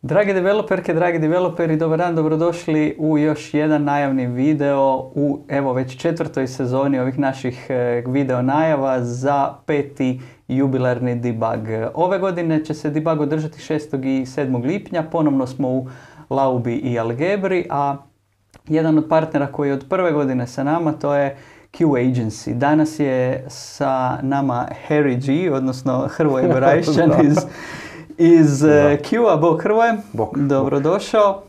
Drage developerke, dragi developeri, dobar dan, dobrodošli u još jedan najavni video u evo već 4. sezoni ovih naših video najava za 5. jubilarni debug. Ove godine će se debug održati 6. i 7. lipnja, ponovno smo u Laubi i Algebri, a jedan od partnera koji je od prve godine sa nama to je Q Agency. Danas je sa nama Harry G, odnosno Hrvoje Gorajšćan iz Q-a. Bog Hrvoje, dobrodošao.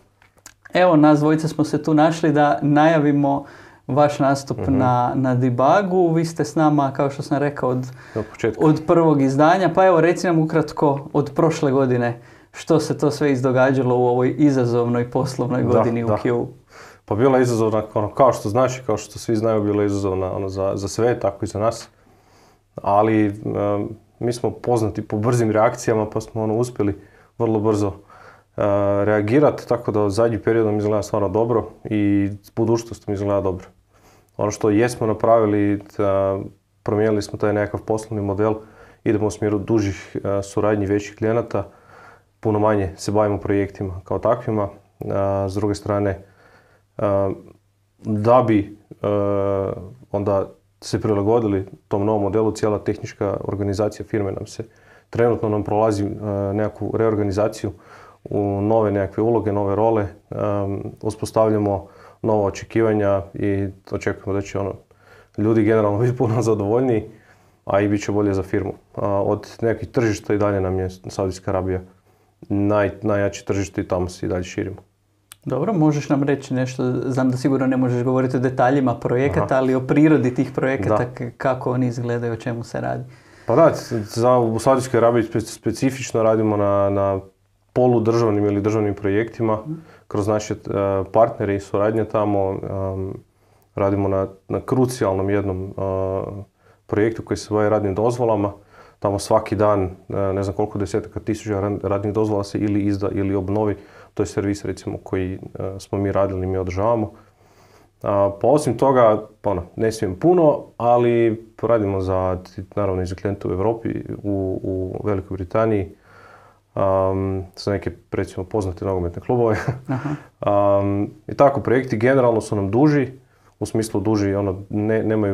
Evo, nas dvojica smo se tu našli da najavimo vaš nastup na debugu. Vi ste s nama, kao što sam rekao, od prvog izdanja. Pa evo, reci nam ukratko od prošle godine što se to sve izdogađalo u ovoj izazovnoj poslovnoj godini u Q-u. Pa bila je izazovna, kao što znaš i kao što svi znaju, bila je izazovna za sve, tako i za nas. Ali mi smo poznati po brzim reakcijama, pa smo uspjeli vrlo brzo reagirati, tako da zadnji period nam izgleda stvarno dobro i budućnost mi izgleda dobro. Ono što jesmo napravili, promijenili smo taj nekakav poslovni model, idemo u smjeru dužih suradnji većih klijenata, puno manje se bavimo projektima kao takvima. S druge strane, da bi onda se prilagodili tom novom modelu, cijela tehnička organizacija firme trenutno nam prolazi nekakvu reorganizaciju u nove nekakve uloge, nove role, uspostavljamo nova očekivanja i očekujemo da će ljudi generalno biti puno zadovoljniji, a i bit će bolje za firmu. Od nekih tržišta i dalje nam je Saudijska Arabija najjače tržište i tamo se i dalje širimo. Dobro, možeš nam reći nešto, znam da sigurno ne možeš govoriti o detaljima projekata, ali o prirodi tih projekata, kako oni izgledaju, o čemu se radi. Pa da, u Saudijskoj Arabiji specifično radimo na poludržavnim ili državnim projektima, kroz naše partnere i suradnje tamo. Radimo na krucijalnom jednom projektu koji se bavi radnim dozvolama. Tamo svaki dan, ne znam koliko desetaka tisuća radnih dozvola se ili izda ili obnovi. To je servis recimo koji smo mi radili, mi održavamo. Pa osim toga, ne smijem puno, ali radimo naravno i za klijente u Europi, u Velikoj Britaniji, za neke recimo poznate nogometne klubove. I tako, projekti generalno su nam duži, u smislu duži,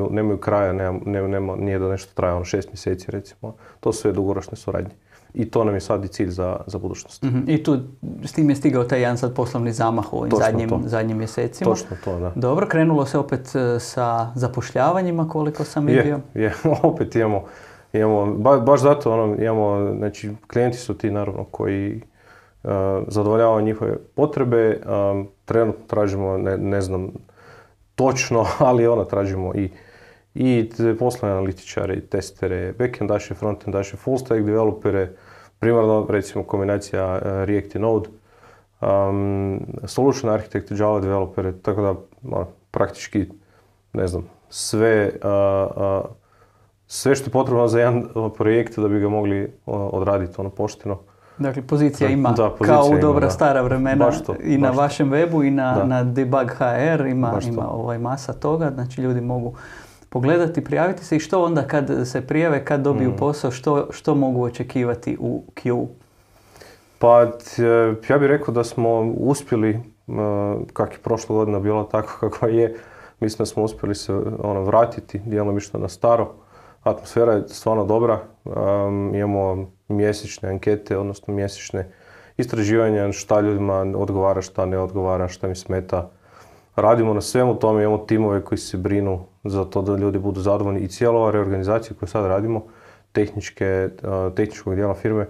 nemaju kraja, nije da nešto traje 6 mjeseci recimo. To su sve dugoročne suradnje. I to nam je sad i cilj za budućnost. I s tim je stigao taj jedan sad poslovni zamah u ovim zadnjim mjesecima. Točno to, da. Dobro, krenulo se opet sa zapošljavanjima, koliko sam vidio. Opet imamo, baš zato imamo, znači klijenti su ti naravno koji zadovoljavaju njihove potrebe. Trenutno tražimo, ne znam točno, ali tražimo i poslovne analitičare, i testere, backendaše, frontendaše, full stack developere, primarno recimo kombinacija React i Node, solution architect, Java developere, tako da praktički, ne znam, sve što je potrebno za jedan projekt da bi ga mogli odraditi pošteno. Dakle, pozicija ima kao u dobra stara vremena i na vašem webu i na Debug HR ima masa toga, znači ljudi mogu pogledati, prijaviti se. I što onda kad se prijave, kad dobiju posao, što mogu očekivati u Q? Pa ja bih rekao da smo uspjeli, kak je prošla godina bila tako kako je, mislim da smo uspjeli se vratiti djelomično na staro. Atmosfera je stvarno dobra, imamo mjesečne ankete, odnosno mjesečne istraživanja šta ljudima odgovara, šta ne odgovara, šta mi smeta. Radimo na svemu tome, imamo timove koji se brinu za to da ljudi budu zadovoljni i cijela ova reorganizacija koju sad radimo, tehničkog dijela firme,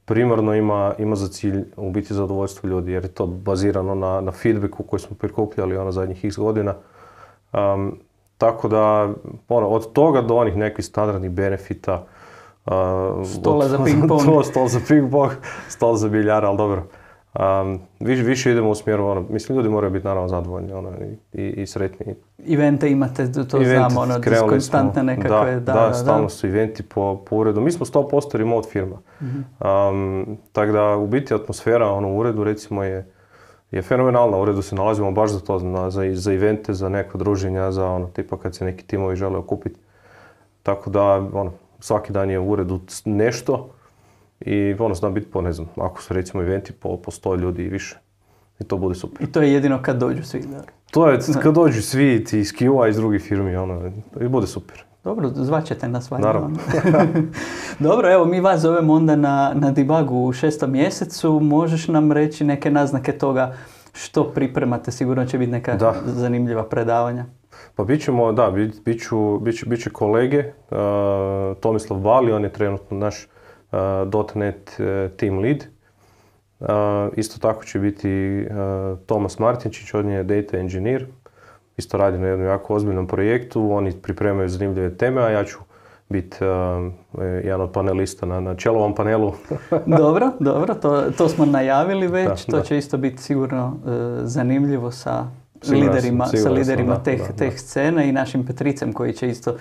primarno ima za cilj u biti zadovoljstvo ljudi, jer je to bazirano na feedbacku koji smo prikupljali zadnjih x godina. Tako da, od toga do onih nekih standardnih benefita, stola za ping-pong. Stol za ping-pong, stol za biljara, ali dobro. Više idemo u smjeru, mislim ljudi moraju biti naravno zadovoljni i sretni. Evente imate, to znamo, konstantne nekakve. Da, stalno su eventi po uredu. Mi smo 100% remote firma. Tako da u biti atmosfera u uredu recimo je je fenomenalna. U uredu se nalazimo baš za to, za evente, za neka druženja, za ono, tipa kad se neki timovi žele okupiti. Tako da, ono, svaki dan je u uredu nešto i ono, zna biti po, ne znam, ako su recimo eventi po 100 ljudi i više. I to bude super. I to je jedino kad dođu svi, da? To je kad dođu svi ti iz Q-a, iz drugih firmi, ono, i bude super. Dobro, zvaćete nas valjda. Naravno. Dobro, evo mi vas zovemo onda na debugu u 6. mjesecu. Možeš nam reći neke naznake toga što pripremate? Sigurno će biti neka zanimljiva predavanja. Pa bit će kolege. Tomislav Bali, on je trenutno naš .NET team lead. Isto tako će biti Tomas Martinčić, on je data engineer. Isto radi na jednom jako ozbiljnom projektu, oni pripremaju zanimljive teme, a ja ću biti jedan od panelista na čelovom panelu. Dobro, to smo najavili već, to će isto biti sigurno zanimljivo sa liderima teh scene i našim Petricem koji će isto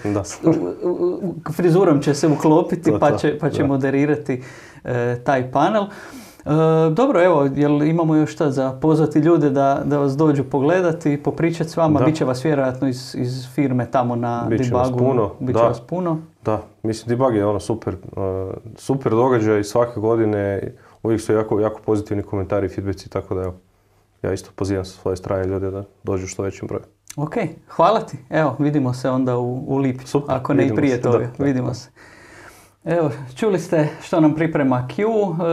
frizurom će se uklopiti pa će moderirati taj panel. Dobro, evo, jel imamo još šta za pozvati ljude da vas dođu pogledati, popričati s vama, bit će vas vjerojatno iz firme tamo na debugu, bit će vas puno. Da, mislim debug je ono super događaj svake godine, uvijek su jako pozitivni komentari i feedbacki, tako da evo, ja isto pozivam sa svoje strane ljude da dođu što većim brojem. Ok, hvala ti, evo, vidimo se onda u lipnju, ako ne i prije toga, vidimo se. Evo, čuli ste što nam priprema Q,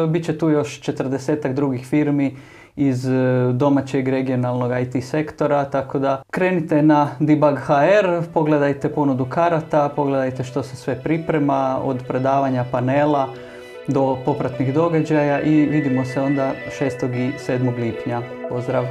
bit će tu još 40-ak drugih firmi iz domaćeg regionalnog IT sektora, tako da krenite na Debug.hr, pogledajte ponudu karata, pogledajte što se sve priprema, od predavanja panela do popratnih događaja i vidimo se onda 6. i 7. lipnja. Pozdrav!